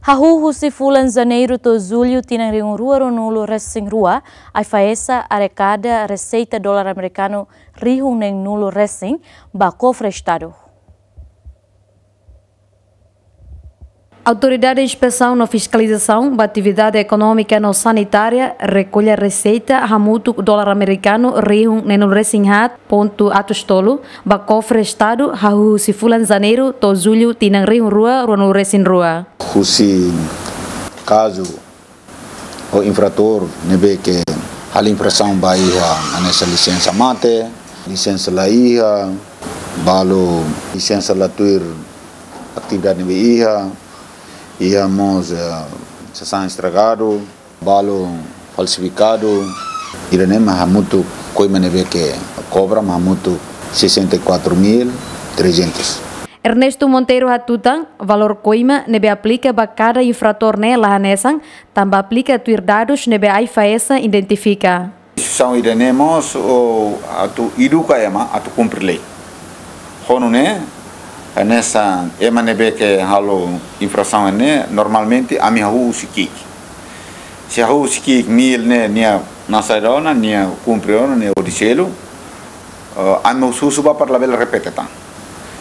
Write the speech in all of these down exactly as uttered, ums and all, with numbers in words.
Hahú husi fulan Janeiru to'o Jullu tinan rihun rua ruanulu resin rua, AIFAESA arekada reseita dolar amerikanu rihun neen nulu resin ba kofre Estadu. Autoridade Inspesaun no Fiskalizasaun ba Atividade Ekonómika no Sanitária rekolla reseita hamutuk dolar amerikanu rihun neen nulu resin haat pontu atus tolu ba kofre Estadu hahú husi fulan Janeiru to'o Jullu tinan rihun rua ruanulu resin rua. Husi kazu ou infratór ne'ebé ke halo infrasaun ba iha hanesan lisensa mate, lisensa la iha, balu lisensa la tuir atividade ne'ebé iha, iha mós, eh, sasán estragadu, balu falsifikadu, ida-ne'e mak hamutuk koima ne'ebé ke kobra mak hamutuk sessenta e quatro mil trezentos. Ernesto Monteiro hatutan, valór koima ne'ebé aplika ba kada infratór ne'e la hanesan, tanba aplika tuir dadus ne'ebé AIFAESA identifika. Instituisaun ida-ne'e mós, o, atu eduka ema atu kumpre lei. Ho nune'e, hanesan ema ne'ebé ke halo infrasaun ne'e, normalmente ami hahú husi ki'ik. Se hahú husi ki'ik mil ne'e, nia nasaun ona, nia kumpre ona, nia hodi selu, eh, ami husu ba para labele repete tan.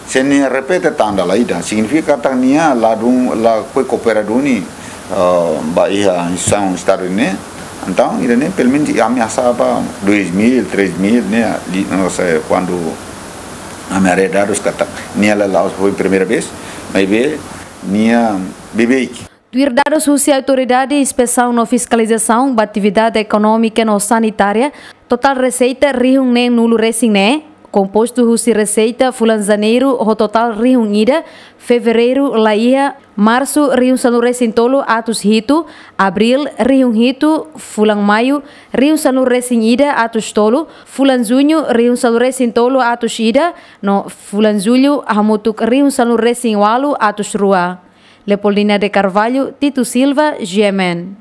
Se nia repete tan dala ida, signifika katak nia ladún, la koi koopera duni, eh, ba iha instituisaun Estadu ne'e. Entaun, ida-ne'e, pelumenus, ami hasa'e ba dois mil, três mil ne'e, di, no sé, kuandu ami haree dadus katak nia la, la, foi primeira vez, maibé nia beibeik. Tuir dadus husi Autoridade Inspesaun no Fiskalizasaun ba Atividade Ekonómika no Sanitária, totál reseita rihun neen nulu resin ne'e kompostu husi reseita fulan Janeiru ho totál rihun ida, Fevereiru la iha, Marsu rihun sanulu resin tolu atus hitu, Abríl rihun hitu, fulan Maiu rihun sanulu resin ida atus tolu, fulan Juñu rihun sanulu resin tolu atus ida, no fulan Jullu hamutuk rihun sanulu resin ualu atus rua. Leopoldina de Carvalho, Tito Silva, G M N.